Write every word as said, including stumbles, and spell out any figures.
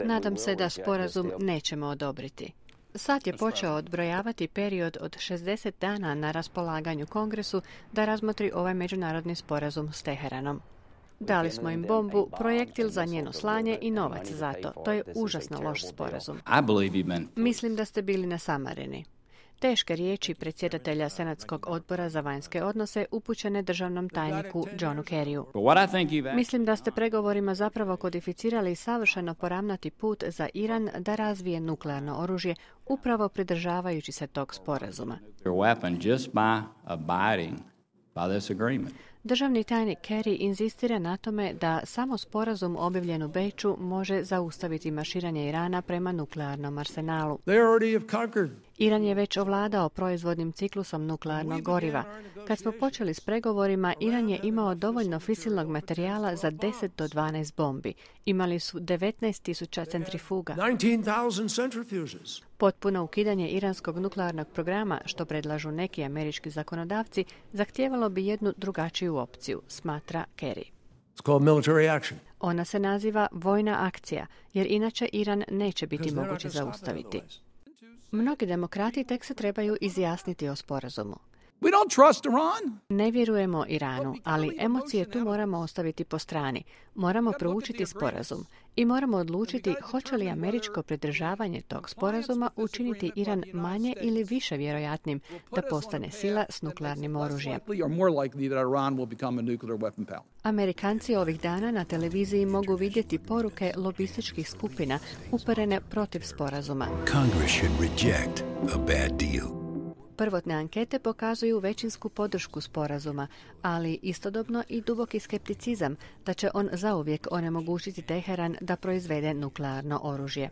Nadam se da sporazum nećemo odobriti. Sad je počeo odbrojavati period od šezdeset dana na raspolaganju Kongresu da razmotri ovaj međunarodni sporazum s Teheranom. Dali smo im bombu, projektil za njeno slanje i novac za to. To je užasno loš sporazum. Mislim da ste bili nasamareni. Teške riječi predsjedatelja Senatskog odbora za vanjske odnose upućene državnom tajniku Johnu Kerryu. Mislim da ste pregovorima zapravo kodificirali savršeno poravnati put za Iran da razvije nuklearno oružje upravo pridržavajući se tog sporazuma. Državni tajnik Kerry inzistira na tome da samo sporazum objavljen u Beču može zaustaviti marširanje Irana prema nuklearnom arsenalu. Iran je već ovladao proizvodnim ciklusom nuklearnog goriva. Kad smo počeli s pregovorima, Iran je imao dovoljno fisilnog materijala za deset do dvanaest bombi. Imali su devetnaest tisuća centrifuga. Potpuno ukidanje iranskog nuklearnog programa, što predlažu neki američki zakonodavci, zahtijevalo bi jednu drugačiju opciju, smatra Kerry. Ona se naziva vojna akcija, jer inače Iran neće biti moguće zaustaviti. Mnogi demokrati tek se trebaju izjasniti o sporazumu. We don't trust Iran. Ne vjerujemo Iranu, ali emocije tu moramo ostaviti po strani. Moramo proučiti sporazum i moramo odlučiti hoće li američko pridržavanje tog sporazuma učiniti Iran manje ili više vjerojatnim da postane sila s nuklearnim oružjem. Amerikanci ovih dana na televiziji mogu vidjeti poruke lobističkih skupina uperene protiv sporazuma. Congress should reject a bad deal. Prvotne ankete pokazuju većinsku podršku sporazuma, ali istodobno i duboki skepticizam da će on zauvijek onemogućiti Teheran da proizvede nuklearno oružje.